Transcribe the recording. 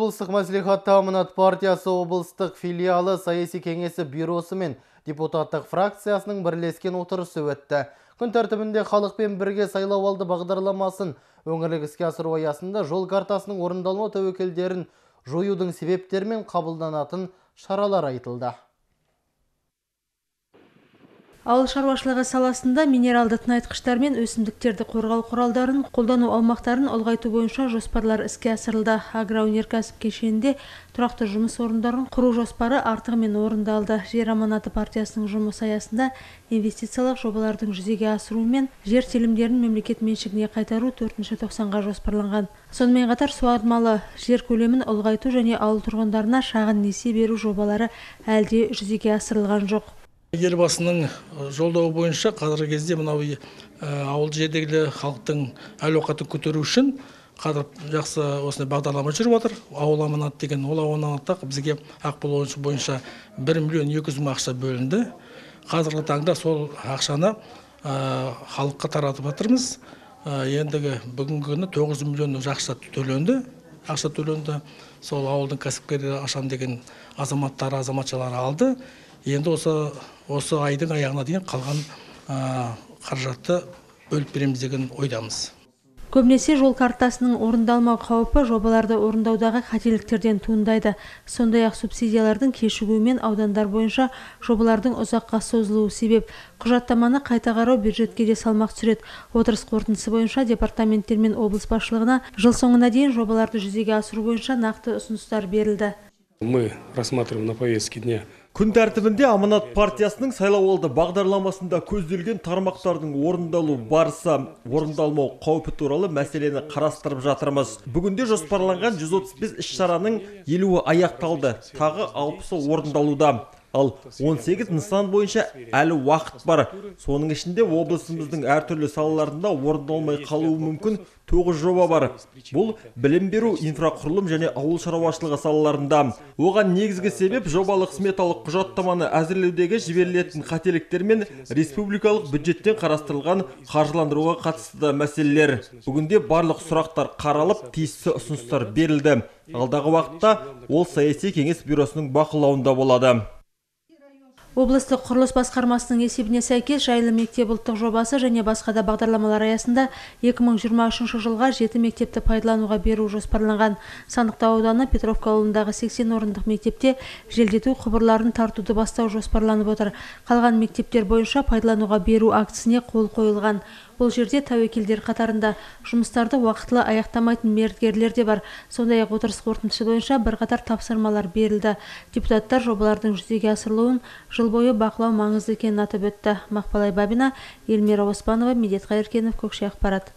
облыстық мәслихатта Аманат партиясы облыстық филиалы саяси кеңесі бюросы мен депутаттық фракциясының бірлескен отырысы өтті. Күн тәртібінде халықпен бірге сайлауалды бағдарламасын өңірлік іске асыру аясында жол картасының орындалма тәуекелдерін жоюдың себептері мен қабылданатын шаралар айтылды. Ауыл шаруашылығы саласында минералды тыңайтқыштар мен өсімдіктерді қорғау құралдарын қолдану аумақтарын ұлғайту бойынша жоспарлар іске асырылды. Агроөнеркәсіп кешенінде тұрақты жұмыс орындарын құру жоспары артығымен орындалды. Жер аманаты партиясының жұмысы аясында инвестициялық жобалардың жүзеге асыру мен жер телімдерін мемлекет меншігіне қайтару 4-тоқсанға жоспарланған. Сонымен қатар суармалы жер көлемін ұлғайту және ауыл тұрғындарына шағын несие беру жобалары әлде жүзеге асырылған жоқ. Елбасының жолдауы бойынша қазіргі кезде мынау ауыл жердегі халықтың әл-ауқатын көтеру үшін қазір жақсы осындай бағдарлама жүріп отыр. Ауыл аманат деген ол аманатта бізге Ақбұл бойынша 1 миллион 200 мың ақша бөлінді. Қазіргі таңда сол ақшаны халыққа таратып жатырмыз. Ендігі бүгінгі күні 9 миллион ақша төленді. Сол ауылдың кәсіпкерлері ашам деген азаматшалар алды. Енді осы айдың аяғына дейін қалған қаражатты бөліп береміз деген ойдамыз. Көбінесе жол картасының орындалмау қаупі жобаларды орындаудағы қателіктерден туындайды. Сондай-ақ субсидиялардың кешігуімен аудандар бойынша жобалардың ұзаққа созылуы себеп. Құжаттаманы қайта қарау бюджетке де салмақ түсіреді. Отырыс қорытындысы бойынша департаменттер мен облыс басшылығына жыл соңына дейін жобаларды жүзеге асыру бойынша нақты ұсыныстар берілді. Мы рассматриваем на повестке дня. Күн тәртібінде Аманат партиясының сайлауалды бағдарламасында көзделген тармақтардың орындалу барысы, орындалмау қаупі туралы мәселені қарастырып жатырмыз. Бүгінде жоспарланған 135 іс-шараның 50-і аяқталды, тағы 60-ы орындалуда. Ал 18 нысан бойынша әлі уақыт бар. Соның ішінде облысымыздың әртүрлі салаларында орындалмай қалуы мүмкін 9 жоба бар. Бұл білім беру, инфрақұрылым және ауыл шаруашылығы салаларында. Оған негізгі себеп жобалық сметалық құжаттаманы әзірлеудегі жіберілетін қателіктер мен республикалық бюджеттен қарастырылған қаржыландыруға қатысты мәселелер. Бүгінде барлық сұрақтар қаралып, тиісті ұсыныстар берілді. Алдағы уақытта ол саяси кеңес бюросының бақылауында болады. Облыстық құрылыс басқармасының есебіне сәйкес жайлы мектеп ұлттық жобасы және басқа да бағдарламалар аясында 2023 жылға 7 мектепті пайдалануға беру жоспарланған. Сандықтау ауданы Петровка ауылындағы 80 орындық мектепте желдету құбырларын тартуды бастау жоспарланып отыр. Қалған мектептер бойынша пайдалануға беру актісіне қол қойылған. Бұл жерде тәуекелдер қатарында жұмыстарды уақытылы аяқтамайтын мердігерлер де бар. Сондай-ақ отырыс қорытындысы бойынша бірқатар тапсырмалар берілді. Депутаттар жобалардың жүзеге асырылуын жыл бойы бақылау маңызды екенін атап өтті. Мақпал Айбабина, Эльмира Оспанова, Медет Қайыркенов, Көкше ақпарат.